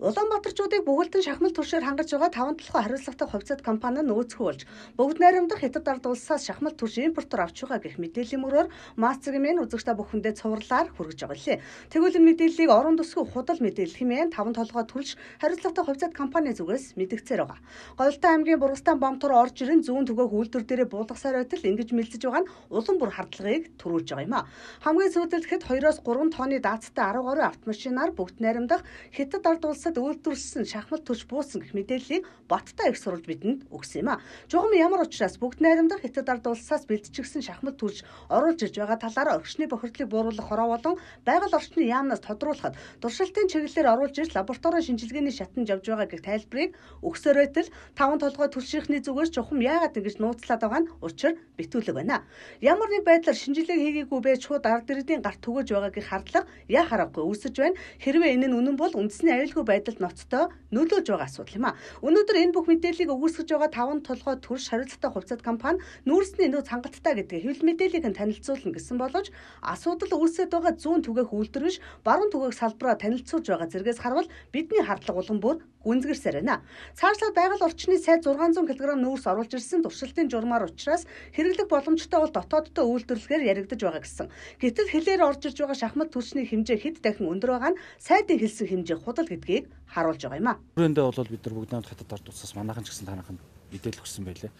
Улаанбаатарчуудыг бүгэлдэн шахмал түвшээр хангаж байгаа 5 толгой хариуцлагатай хувьцаат компани нь нөөцгүй болж бүгд найрамдах Хятад ард улсаас шахмал түвш импортоор авч байгаа гэх мэдээллийн мөрөөр Маасцгийн үзэгчтэй бүхэндээ цувралаар хүргэж байгаа лээ. Тэгвэл энэ мэдээллийг орон төсгүй худал мэдээлэл хэмээн 5 толгой түвш хариуцлагатай хувьцаат компани зүгээс мэдгцээр байгаа. Голтой аймгийн Бургастан бомтор орж ирэн зүүн түгээх үйлдвэр дээрээ буулгасаар байтал ингэж мэлзэж байгаа нь улам бүр хардлагыг төрүүлж байгаа юм а. Хамгийн сүүлдэлхэд 2-3 тонны даацтай 10 гаруй автомашинаар бүгд найрамдах Хятад ард улсад үйлдвэрлэсэн шахмал түвш буусан гэх мэдээллийг Баттай их сурвалж бидэнд өгсөн юм а. Жухам ямар учраас бүгд найрамдах Хятад ард улсаас бэлтжигсэн шахмал түвш оруулж ирж байгаа талаараа орчны бохирдлыг бууруулах хороо болон байгаль орчны яамнаас тодруулахад туршилтын чиглэлээр оруулж ирж лабораторийн шинжилгээний шатанд явж байгаа гэх тайлбарыг өгсөөр байтал 5 толгой түлшийнхний зүгээс жухам яагаад ингэж нууцлаад байгаа нь учир битүүлэг байна. Ямар нэг байдлаар шинжилгээ хийгээгүй байж шууд ард иргэдийн гарт түгэж байгаагийн хардлага яа харахгүй үүсэж байна. Хэрвээ энэ нь үнэн бол үндэсний аюулгүй байдалд ноцтой нөлөөлж байгаа асуудал юм а. Өнөөдөр энэ бүх мэдээллийг өгүүлсгэж байгаа 5 толгой түвш хариуцлагатай хувьцаат компани нүүрсний нөөц хангалттай гэдэг хэвлэл мэдээллийг нь танилцуулна гэсэн боловч асуудал үүсэт байгаа зүүн түгээх үйлдвэр биш баруун түгээх салбараа танилцуулж байгаа зэрэгээс харвал бидний хардлага улам бүр гүнзгэрсээр байна. Цаашлаад байгаль орчны сайд 600 кг нүүрс оруулж ирсэн туршилтын журмаар учраас хэрэглэх боломжтой бол дотооддоо үйлдвэрлэхээр яригдаж байгаа гэсэн. Гэтэл хэлээр орж ирж байгаа шахмат түвшний хэмжээ хэд дахин өндөр байгаа нь сайдын хэлсэн хэмжээ худал гэдгийг харуулж байгаа юм а. Түрүүндээ бол бид нар бүгд найрамд Хятад ард улсаас манайхан ч гэсэн танайхан мэдээлэл өгсөн байлээ.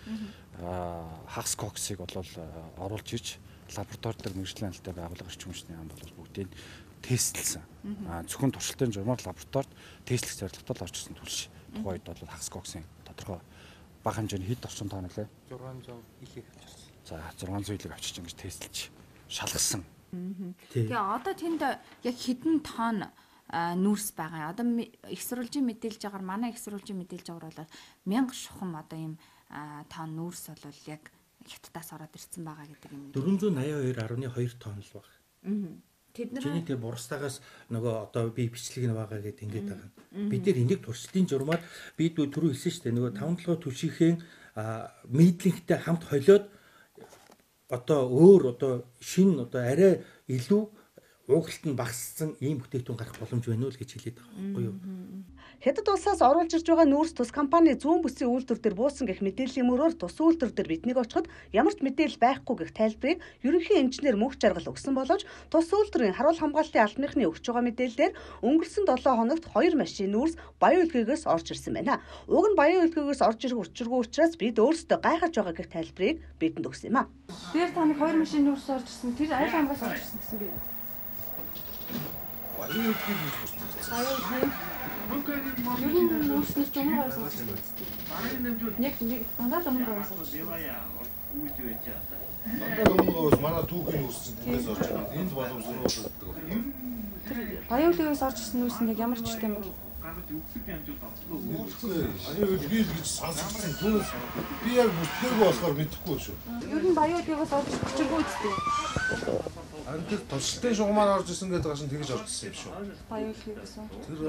Хагас коксыг бол оруулж ирж лаборатори дээр мэргэжлийн алтай байгууллага эрчим хүчний ам бол бүгдийг тестлсэн. Зөвхөн туршилтын журмаар лабораторид тестлэх зорилготой л орж ирсэн түлш. Тухайд бол хагас коксын тодорхой бага хэмжээний хэд орчим тонн лээ? 600 илийг авчирсан. За 600 илийг авчирч ингэж тестлж шалгасан. Тэгээ одоо тэнд яг хэдэн тонн нүүрс байгаа. Одоо их сурвалжийн мэдээлж байгаагаар манай их сурвалжийн мэдээлж байгаагаар бол 1000 шухам одоо ийм тонн нүүрс бол яг Хятадаас ороод ирсэн байгаа гэдэг юм. 482.2 тонн л баг. Тэд нар Чиний Бургастагаас нөгөө одоо би бичлэг нь байгаа гэдэг ингэж байгаа. Бид нэр энийг туршилтын журмаар бид түрүү хэлсэн шүү дээ. Нөгөө 5 толгой түвшийнхээ мидлингтэй хамт холиод одоо өөр одоо шинэ одоо арай илүү уугалт нь багассан ийм бүтээгдэхүүн гарах боломж байна уу л гэж хэлээд байгаа байхгүй юу? Хятад улсаас оруулж ирж байгаа нүүрс тус компани зүүн бүсийн үйлдвэр дээр буусан гэх мэдээллийн мөрөөр тус үйлдвэр дээр биднийг очиход ямар ч мэдээлэл байхгүй гэх тайлбарыг ерөнхий инженер мөнх жаргал өгсөн боловч тус үйлдвэрийн харуул хамгаалтын албаныхны өгч байгаа мэдээлэлээр өнгөрсөн 7 хоногт 2 машин нүүрс Баян Улгийгээс орж ирсэн байна. Уг нь Баян Улгийгээс орж ирэх учиргүй учраас бид өөрсдөө гайхаж байгаа гэх тайлбарыг бидэнд өгсөн юм а. Тэр таны 2 машин нүүрс орж ирсэн. Тэр аль хамгаас орж ирсэн гэсэн би. Баян Улгий гэж хэлсэн. Баян Улгий. Ер нь нүүрснээс жумаар орж ирсэн. Нэг дандаа жумаар орж ирсэн. Дандаа өмнөөс манай түүхийн нүүрсэн тэндээс орж ирсэн. Энд боломжтой болдог. Тэр Баян Улгийгээс орж ирсэн нүүрс нь яг ямар ч юм бэ? Баян Улгий гэж сонссон. Түүнээс би яг бүтлээг болохоор мэдэхгүй шүү. Ер нь Баян Улгийгээс орж ирчихгүй үстэй. Харин тэр туршилтын шугамаар орж ирсэн гэдэг гашин тэгэж орж ирсэн юм шүү. Баян Улгий гэсэн. Тэр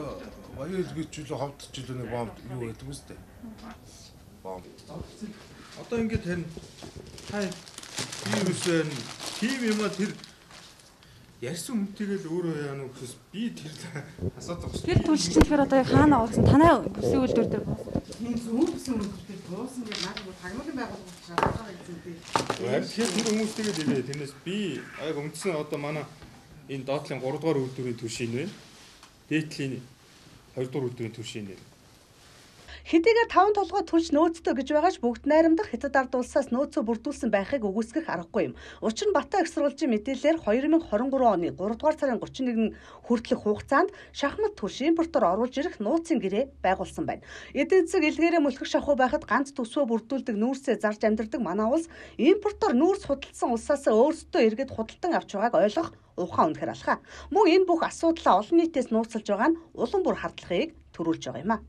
Баян Улгий ч илүү ховд ч илүү нэг бомб юу гэдэг үстэй. Бомб. Одоо ингэж харин хай тийм үсэн тийм юм а тэр ярьсан үнтэйгэл өөрөө яана гэхээс би тэр асуудаг шүү. Тэр түлшчин тэгэхээр одоо яг хаана орсон? Танай бүсийн үйлдвэр дээр буусан. Тийм зүүн бүсийн үйлдвэр дээр буусан гэж наад тагнуулын байгууллага шалтгаан хэлсэн тийм. Тэгэхээр тэр хүмүүстэйгээ хэлээ. Тэрнээс би яг үндсэн одоо манай энэ доотлын 3 дугаар үйлдвэрийн түвшин вэ? Дээдлийн 2 дугаар үйлдвэрийн түвшин вэ? Хэдийгээр 5 толгой түлш нөөцтэй гэж байгаач бүгд найрамдах Хятад ард улсаас нөөцөө бүрдүүлсэн байхыг үгүйсгэх аргагүй юм. Учир нь Баттай их сурвалжийн мэдээлэлээр 2023 оны 3 дугаар сарын 31-нд хүртэлх хугацаанд шахмат түвш импортоор оруулж ирэх нууцын гэрээ байгуулсан байна. Эдийн засаг илгээрээ мөлхөх шахуу байхад ганц төсвөө бүрдүүлдэг нүүрсээ зарж амьдардаг манай улс импортоор нүүрс худалдсан улсаас өөрсдөө эргээд худалдан авч байгааг ойлгох ухаан үнэхэр алхаа. Мөн энэ бүх асуудлаа олон нийтээс нууцлж байгаа нь улам бүр хардлагыг төрүүлж байгаа юм а.